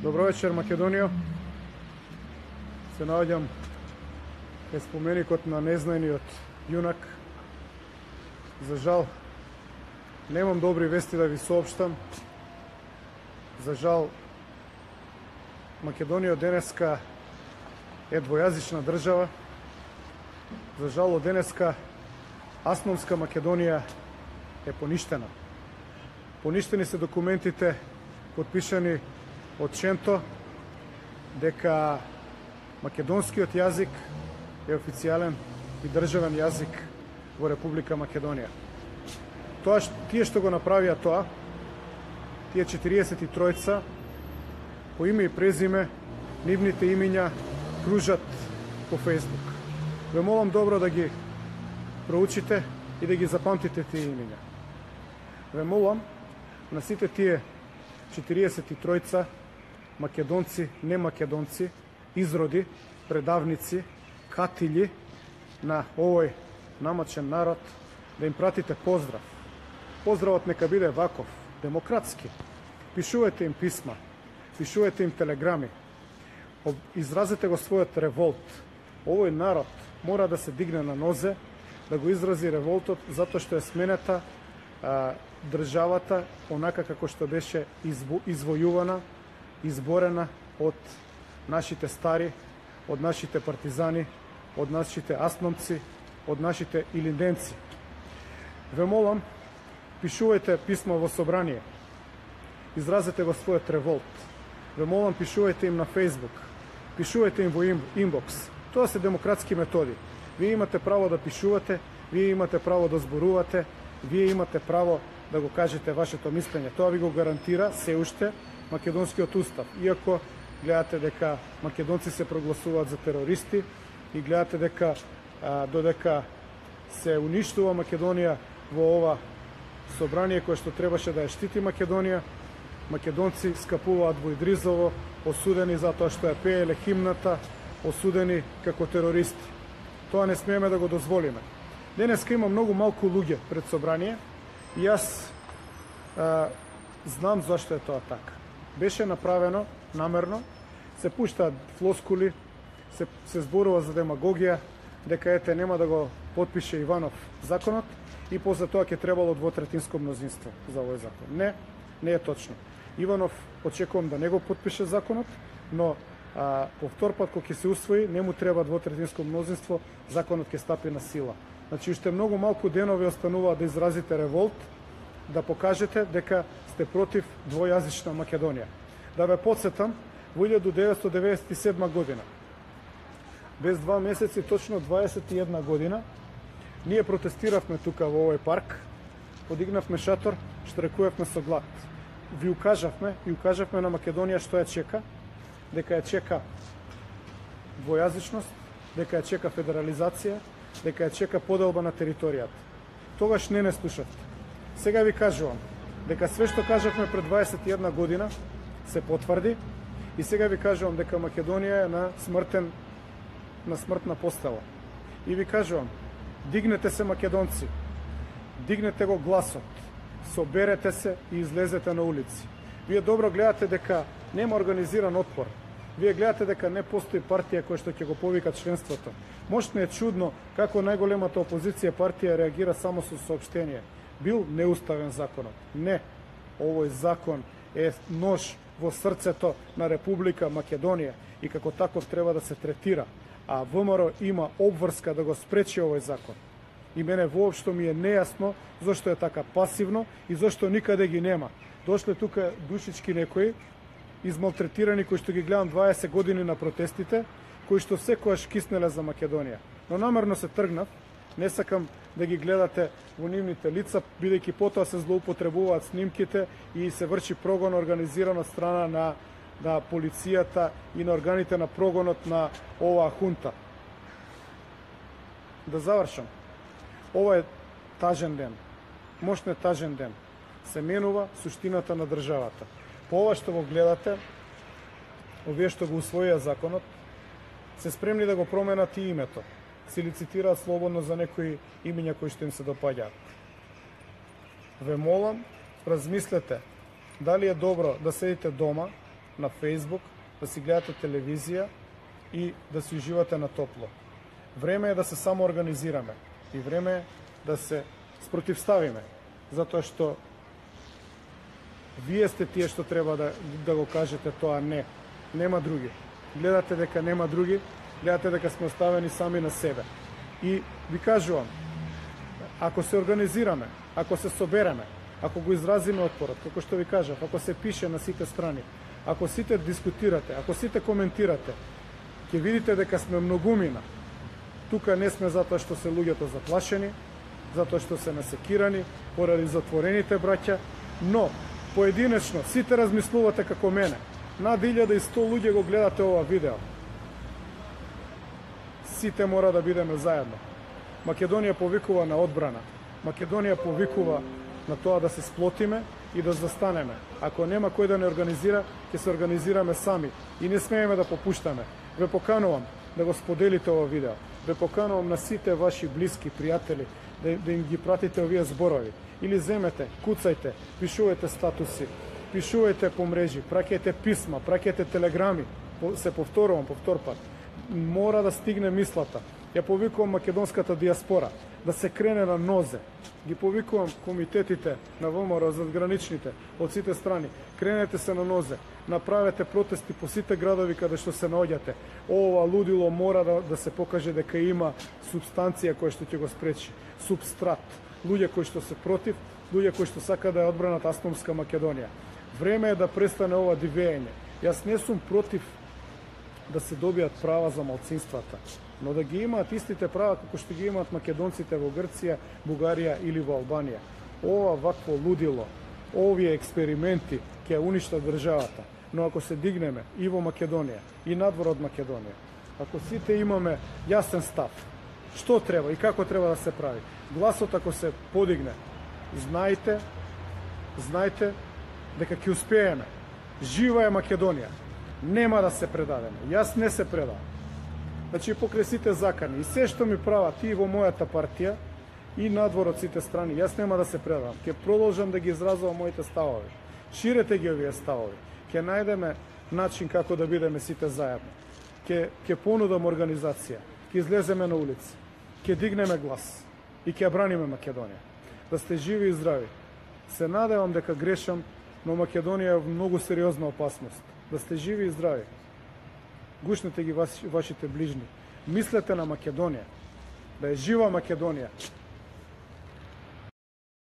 Добро вечер, Македонија. Се наоѓам кај споменикот на незнаениот јунак. За жал, немам добри вести да ви соопштам. За жал, Македонија денеска е двојазична држава. За жал, од денеска Асманска Македонија е поништена. Поништени се документите подпишани од Шенто дека македонскиот јазик е официјален и државен јазик во Република Македонија. Тие што го направија тоа, тие 43 по име и презиме, нивните имиња кружат по Фејсбук. Ве молам добро да ги проучите и да ги запамтите тие имиња. Ве молам на сите тие 43 македонци, не македонци, изроди, предавници, катилји на овој намачен народ, да им пратите поздрав. Поздравот нека биде ваков, демократски. Пишувајте им писма, пишувајте им телеграми, изразете го својот револт. Овој народ мора да се дигне на нозе, да го изрази револтот, затоа што е сменета државата онака како што беше извојувана, изборена од нашите стари, од нашите партизани, од нашите асманци, од нашите илинденци. Ве молам, пишувајте писма во собрание, изразете го својот револт. Ве молам, пишувајте им на Фејсбук, пишувајте им во инбокс. Тоа се демократски методи. Вие имате право да пишувате, вие имате право да зборувате, вие имате право да го кажете вашето мислење. Тоа ви го гарантира се уште македонскиот устав. Иако гледате дека македонци се прогласуваат за терористи и гледате дека додека се уништува Македонија во ова собрание кое што требаше да ја штити Македонија, македонци скапуваат во Идризово, осудени затоа што ја пееле химната, осудени како терористи. Тоа не смееме да го дозволиме. Денеска има многу малку луѓе пред собрание и јас знам зашто е тоа така. Беше направено намерно, се пуштаат флоскули, се зборува за демагогија, дека ете нема да го потпише Иванов законот и после тоа ќе требало двотретинско мнозинство за овој закон. Не, не е точно. Иванов очекувам да не го потпише законот, но повтор пат кога ќе се усвои, не му треба двотретинско мнозинство, законот ќе стапи на сила. Значи, уште многу малку денови остануваат да изразите револт, да покажете дека сте против двојазична Македонија. Да ве подсетам, во 1997 година, без 2 месеци, точно 21 година, ние протестиравме тука во овој парк, подигнавме шатор, штрекувавме со глад. Ви укажавме на Македонија што ја чека, дека ја чека двојазичност, дека ја чека федерализација, дека ја чека поделба на територијата. Тогаш не слушавте. Сега ви кажувам дека све што кажавме пред 21 година се потврди и сега ви кажувам дека Македонија е на смртна постела. И ви кажувам, дигнете се македонци, дигнете го гласот, соберете се и излезете на улици. Вие добро гледате дека нема организиран отпор. Вие гледате дека не постои партија која што ќе го повика членството. Можна е чудно како најголемата опозиција партија реагира само со соопштение. Бил неуставен законот. Не, овој закон е нож во срцето на Република Македонија и како таков треба да се третира. А ВМРО има обврска да го спречи овој закон. И мене воопшто ми е нејасно зашто е така пасивно и зашто никаде ги нема. Дошле тука душички некои, измалтретирани, кои што ги гледам 20 години на протестите, кои што секојаш киснеле за Македонија. Но намерно се тргнав, не сакам да ги гледате во нивните лица, бидејќи потоа се злоупотребуваат снимките и се врши прогон организиран од страна на полицијата и на органите на прогонот на оваа хунта. Да завршам. Ова е тажен ден. Мошно е тажен ден. Се менува суштината на државата. По ова што го гледате, овие што го усвоија законот, се спремни да го променат и името. Се лицитираат слободно за некои имиња кои што им се допаѓаат. Ве молам, размислете дали е добро да седите дома на Facebook, да си гледате телевизија и да си уживате на топло. Време е да се самоорганизираме и време е да се спротивставиме, затоа што вие сте тие што треба да го кажете тоа не. Нема други. Гледате дека нема други, гледате дека сме оставени сами на себе. И ви кажувам, ако се организираме, ако се собереме, ако го изразиме отпорот, како што ви кажав, ако се пише на сите страни, ако сите дискутирате, ако сите коментирате, ќе видите дека сме многумина. Тука не сме затоа што се луѓето заплашени, затоа што се насекирани, поради затворените браќа, но поединечно сите размислувате како мене. Над 1100 луѓе го гледате ова видео. Сите мора да бидеме заедно. Македонија повикува на одбрана. Македонија повикува на тоа да се сплотиме и да застанеме. Ако нема кој да не организира, ќе се организираме сами и не смееме да попуштаме. Ве поканувам да го споделите ова видео. Ве поканувам на сите ваши блиски, пријатели, да им ги пратите овие зборови. Или земете, куцајте, пишувајте статуси, пишувајте по мрежи, праќајте писма, праќајте телеграми. Се повторувам, повтор пат. Мора да стигне мислата. Ја повикувам македонската диаспора да се крене на нозе. Ги повикувам комитетите на ВМРО задграничните од сите страни. Кренете се на нозе. Направете протести по сите градови каде што се наоѓате. Ова лудило мора да се покаже дека има субстанција која што ќе го спречи. Субстрат. Луѓе кои што се против, луѓе кои што сака да ја одбранат автономска Македонија. Време е да престане ова дивење. Јас не сум против да се добијат права за малцинствата, но да ги имаат истите права како што ги имаат македонците во Грција, Бугарија или во Албанија. Ова вакво лудило, овие експерименти ќе уништат државата, но ако се дигнеме и во Македонија и надвор од Македонија, ако сите имаме јасен став, што треба и како треба да се прави, гласот ако се подигне, знајте дека ќе успееме. Жива е Македонија. Нема да се предадеме. Јас не се предавам. Значи, покрај сите закани и се што ми прават и во мојата партија и надвор од сите страни, јас нема да се предавам. Ќе продолжам да ги изразувам моите ставови. Ширете ги овие ставови. Ќе најдеме начин како да бидеме сите заедно. Ќе понудам организација. Ќе излеземе на улица. Ќе дигнеме глас и ќе браниме Македонија. Да сте живи и здрави. Се надевам дека грешам, но Македонија е многу сериозна опасност. Да сте живи и здрави. Гушнете ги вашите ближни. Мислете на Македонија. Да е жива Македонија.